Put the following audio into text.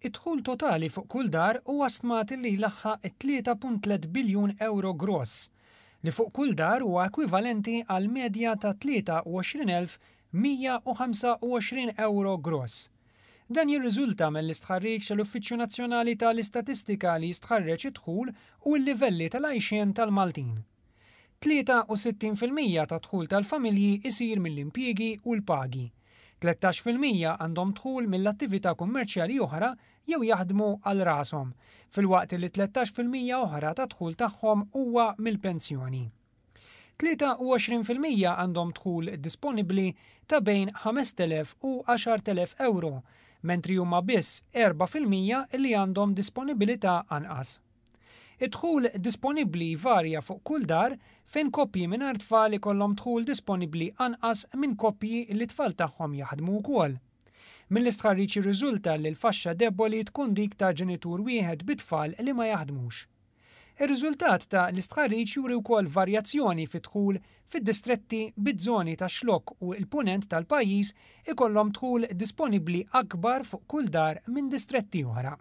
Id-dħul totali fuq kull dar huwa stmat li jlaħħaq it-3.3 biljun ewro gross, li fuq kull dar huwa ekwivalenti għal medja ta' 23,125 ewro gross. Dan jirriżulta mill-istħarriġ tal-Uffiċċju Nazzjonali tal-Istatistika li jistħarreġ id-dħul u l-livelli tal-għajxien tal-Maltin. 63% tad-dħul tal-familji jsir mill-impjiegi u l-pagi. 13% għandhom dħul mill-attività kummerċjali oħra jew jaħdmu għal rashom, filwaqt li 13% oħra tad-dħul tagħhom huwa mill-pensjoni. 23% għandhom dħul disponibbli ta' bejn 5,000 u 10,000 ewro, mentri huma biss 4% li għandhom disponibilità anqas. Id-dħul disponibbli jvarja fuq kull dar fejn koppji mingħajr tfal ikollhom dħul disponibbli anqas minn koppji li t-tfal tagħhom jaħdmu wkoll. Mill-istħarriġ jirriżulta li l-faxxa debboli tkun dik ta' ġenitur wieħed bi tfal li ma jaħdmux. Ir-riżultat ta' l-istħarriġ juri wkoll varjazzjoni fid-dħul fid-distretti biż-żoni tax-Xlokk u l-Punent tal-pajjiż ikollhom dħul disponibbli akbar fuq kull dar minn distretti oħra.